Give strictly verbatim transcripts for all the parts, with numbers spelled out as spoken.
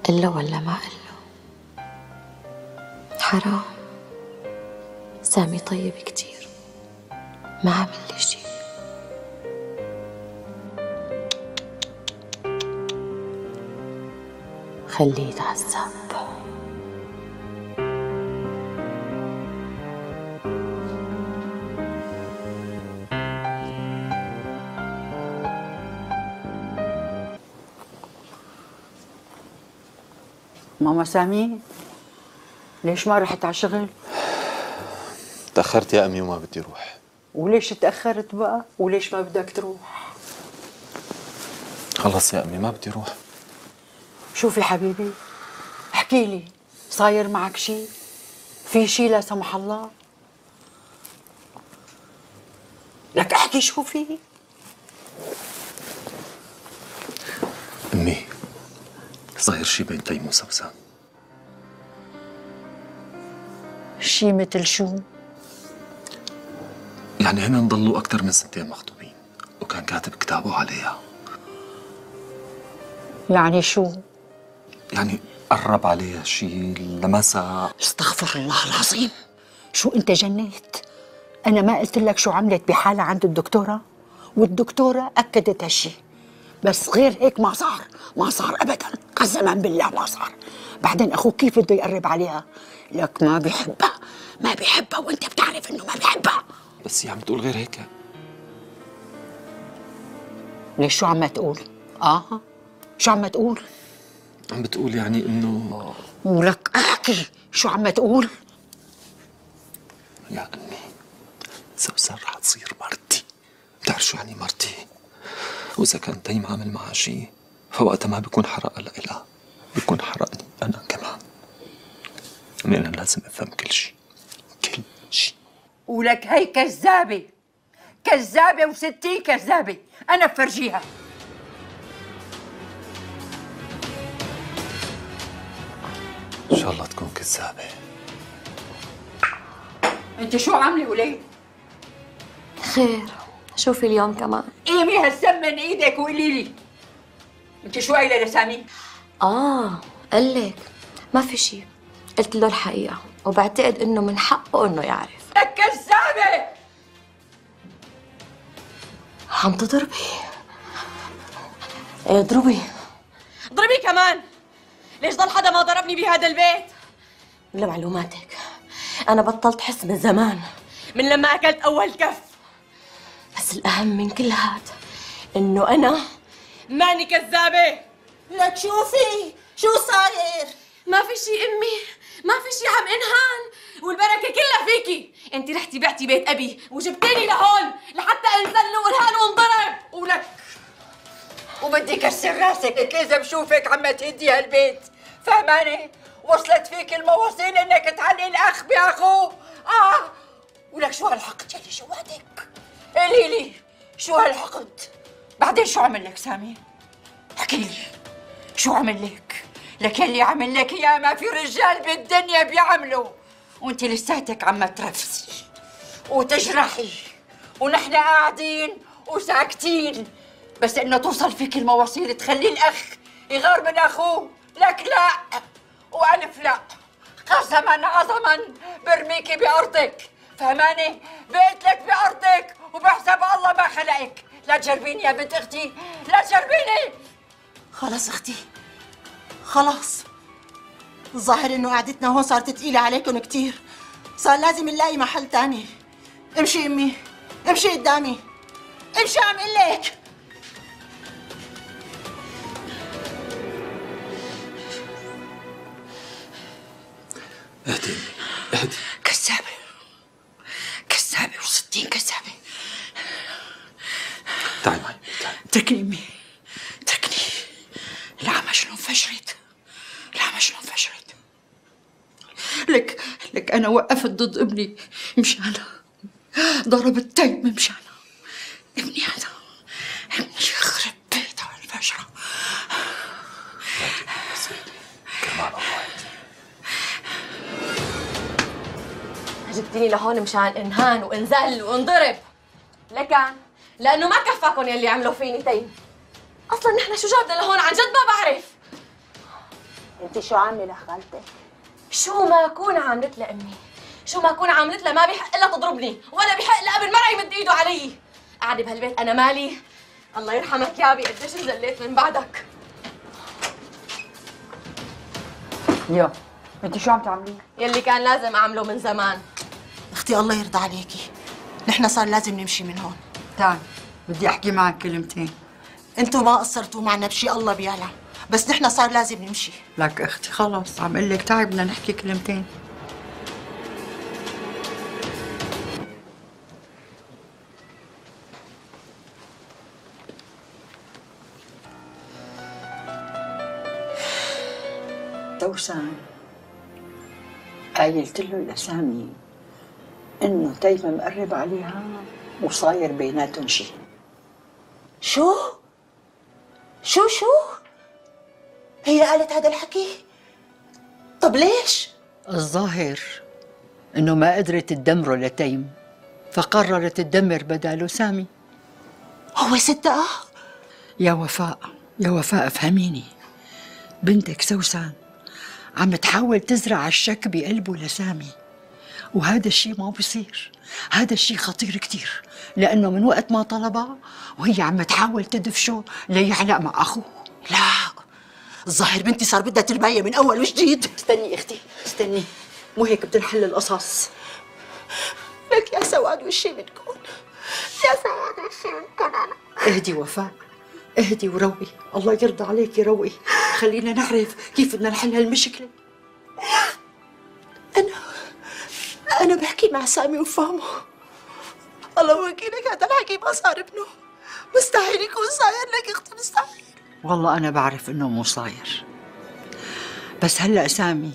قله ولا ما قله؟ حرام، سامي طيب كتير، ما عمل لي شي. خليه يتعذب. ماما سامي، ليش ما رحت على شغل؟ تأخرت يا أمي وما بدي روح. وليش تأخرت بقى؟ وليش ما بدك تروح؟ خلص يا أمي ما بدي روح. شوفي حبيبي، احكي لي، صاير معك شي؟ في شي لا سمح الله؟ لك احكي شو في؟ أمي صاير شي بين تيم وسوسن. شي مثل شو؟ يعني هن ضلوا أكثر من سنتين مخطوبين وكان كاتب كتابه عليها. يعني شو؟ يعني قرب عليها شي، لمسها. استغفر الله العظيم، شو انت جنيت؟ انا ما قلت لك شو عملت بحالها عند الدكتورة؟ والدكتورة اكدت هالشي، بس غير هيك ما صار، ما صار ابدا، قسما بالله ما صار. بعدين اخوك كيف بده يقرب عليها؟ لك ما بيحبها، ما بيحبها وانت بتعرف انه ما بيحبها. بس هي عم تقول غير هيك. ليش شو عم تقول؟ اه شو عم تقول؟ عم بتقول يعني انه. ولك احكي شو عم تقول؟ يا امي سوسن رح تصير مرتي. بتعرف شو يعني مرتي؟ واذا كان تيم عامل معها شيء فوقتها ما بيكون حرقها لإلها، بيكون حرقني انا كمان. امي انا لازم افهم كل شيء، كل شيء. ولك هي كذابة، كذابة وستين كذابة، أنا بفرجيها. ان شاء الله تكون كذابة. أنت شو عاملة وليه؟ خير، شوفي اليوم كمان. قيمي هالسم من إيدك وقولي لي، أنت شو قايلة لسامي؟ آه قلك ما في شي، قلت له الحقيقة وبعتقد إنه من حقه إنه يعرف. لك كذابة! عم تضربي؟ ايه اضربي. اضربي كمان. ليش ضل حدا ما ضربني بهذا البيت؟ لمعلوماتك أنا بطلت حس من زمان، من لما أكلت أول كف. بس الأهم من كل هاد إنه أنا ماني كذابة. لك شوفي شو صاير؟ ما في شي أمي، ما في شي عم انهان، والبركة كلها فيكي. انت رحتي بعتي بيت أبي وجبتيني لهون لحتى انزل وانهان وانضرب. ولك وبدي كسر راسك إذا بشوفك عم تهدي هالبيت، فهماني؟ وصلت فيك المواصيل إنك تعلي الأخ بأخوه. آه ولك شو هالحقد يلي جواتك؟ قولي لي شو هالحقد؟ بعدين شو عمل لك سامي؟ احكي لي شو عمل لك؟ لك يلي عمل لك يا ما في رجال بالدنيا بيعملوا، وانت لساتك عم ترفسي وتجرحي ونحن قاعدين وساكتين، بس انه توصل فيك المواصيل تخلي الاخ يغار من اخوه. لك لا والف لا، قسما عظما برميكي بارضك، فهماني؟ بقيت لك بارضك وبحسب الله ما خلقك. لا تجربيني يا بنت اختي، لا تجربيني. خلص اختي خلاص، الظاهر انه قعدتنا هون صارت تقيلة عليكم كتير، صار لازم نلاقي محل تاني. امشي امي، امشي قدامي، امشي عم قلك. اهدي امي اهدي. كذابة كذابة وستين كذابة. تعي معي تعي. اتركني امي، اتركني. العمى شنو انفجرت، العمى شنو انفجرت. لك لك انا وقفت ضد ابني مشانها، ضربت تيم مشانها. ابني هذا ابني يخرب بيتها الفجرة. بس اهدي كرمال الله اهدي. جبتيني لهون مشان انهان وانزل وانضرب. لكن لانه ما كفاكم يلي عملوا فيني تيم. اصلا نحن شو جابنا لهون عن جد ما بعرف. انت شو عامله لخالتك؟ شو ما اكون عاملت لها امي، شو ما اكون عاملت لها ما بيحق لها تضربني، ولا بيحق لها ابن مرة يمد ايده علي. قاعده بهالبيت انا مالي. الله يرحمك يا ابي قديش انزليت من بعدك. يا انت شو عم تعملي؟ يلي كان لازم اعمله من زمان. اختي الله يرضى عليكي، نحن صار لازم نمشي من هون. تعال بدي احكي معك كلمتين. انتوا ما قصرتوا معنا بشي الله بيعلم، بس نحن صار لازم نمشي. لك اختي خلص عم اقول لك تعي بدنا نحكي كلمتين. توسان قايلت له لسامي انه تيمة مقرب عليها وصاير بيناتهم شي. شو؟ شو شو؟ هي قالت هذا الحكي؟ طب ليش؟ الظاهر انه ما قدرت تدمره لتيم، فقررت تدمر بداله سامي. هو صدقها؟ يا وفاء يا وفاء افهميني، بنتك سوسن عم تحاول تزرع الشك بقلبه لسامي، وهذا الشيء ما بصير. هذا الشيء خطير كتير، لأنه من وقت ما طلبها وهي عم تحاول تدفشه ليعلق مع أخوه. لا، الظاهر بنتي صار بدها ترباية من أول وجديد. استني أختي استني، مو هيك بتنحل القصص. لك يا سواد وشي منكم، يا سواد وشي منكم. أنا اهدي وفاء، اهدي وروقي، الله يرضى عليكي روقي، خلينا نعرف كيف بدنا نحل هالمشكلة. أنا أنا بحكي مع سامي وفهمه. الله وكيلك هذا الحكي ما صار ابنه، مستحيل يكون صاير لك اختي، مستحيل. والله أنا بعرف إنه مو صاير، بس هلأ سامي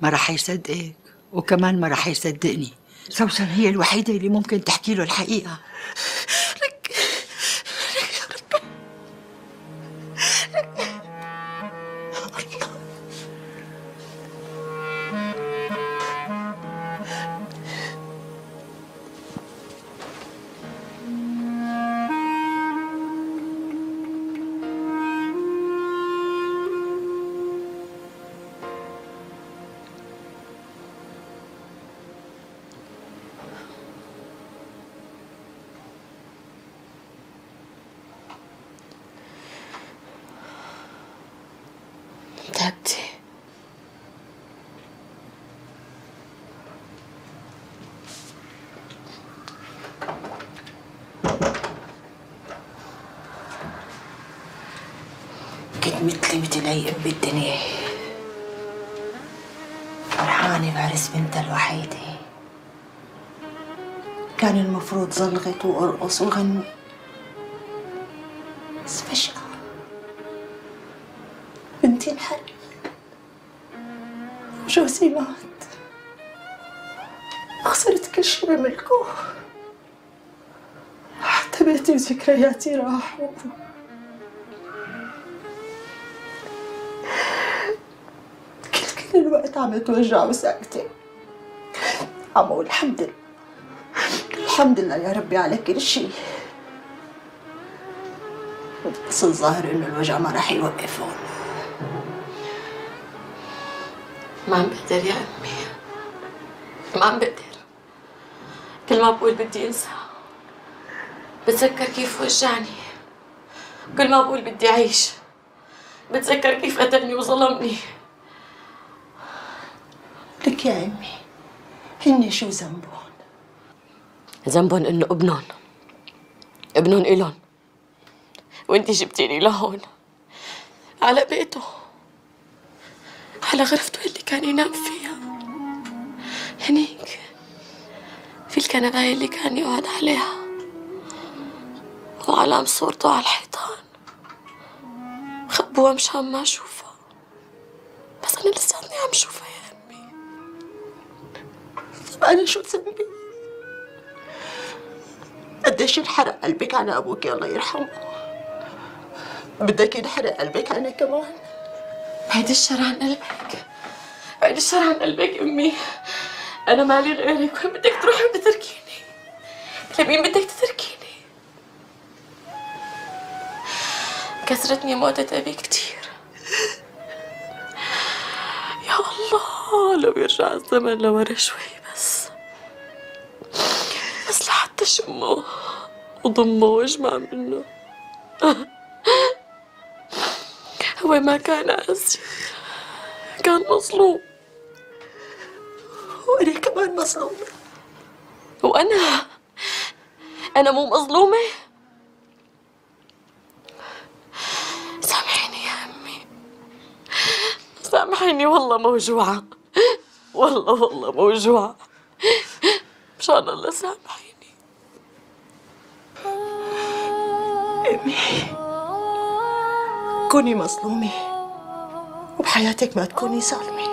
ما رح يصدقك وكمان ما رح يصدقني. سوسن هي الوحيدة اللي ممكن تحكي له الحقيقة. لك لك لك تعبتي؟ كنت مثلي مثل أي أم بالدنيا، فرحانة بعرس بنتها الوحيدة. كان المفروض زلغت وأرقص وغني، بس فجأة بنتي انحرقت وجوزي مات، خسرت كل شي بملكه، حتى بيتي وذكرياتي راحوا. كل كل الوقت عم اتوجع وساكتة، عم اقول الحمد لله الحمد لله يا ربي على كل شي، بس الظاهر انه الوجع ما راح يوقف هون. ما عم بقدر يا أمي، ما عم بقدر. كل ما بقول بدي أنسى بتذكر كيف وجعني، كل ما بقول بدي أعيش بتذكر كيف قتلني وظلمني. لك يا أمي، هن شو ذنبهم؟ ذنبهم إنه ابنهم ابنهم إلهم، وأنتي جبتيني لهون على بيته، على غرفته اللي كان ينام فيها، هنيك في الكنباية اللي كان يقعد عليها، وعلام صورته على الحيطان. خبوها مشان ما اشوفها، بس انا لساتني عم شوفها يا امي. طب انا شو ذنبي؟ قديش انحرق قلبك على ابوك الله يرحمه، بدك ينحرق قلبك انا كمان؟ بعيد الشر عن قلبك، بعيد الشر عن قلبك امي، انا مالي غيرك. وين بدك تروحي وتتركيني؟ لمين بدك تتركيني؟ كسرتني موتة ابي كتير، يا الله لو يرجع الزمن لورا شوي بس بس لحتى شمه وضمه واجمع منه. هو ما كان قاسي، كان مظلوم. وأنا كمان مظلومة. وأنا أنا مو مظلومة؟ سامحيني يا أمي، سامحيني والله موجوعة، والله والله موجوعة، مشان الله سامحيني. أمي كوني مظلومة وبحياتك ما تكوني ظالمة.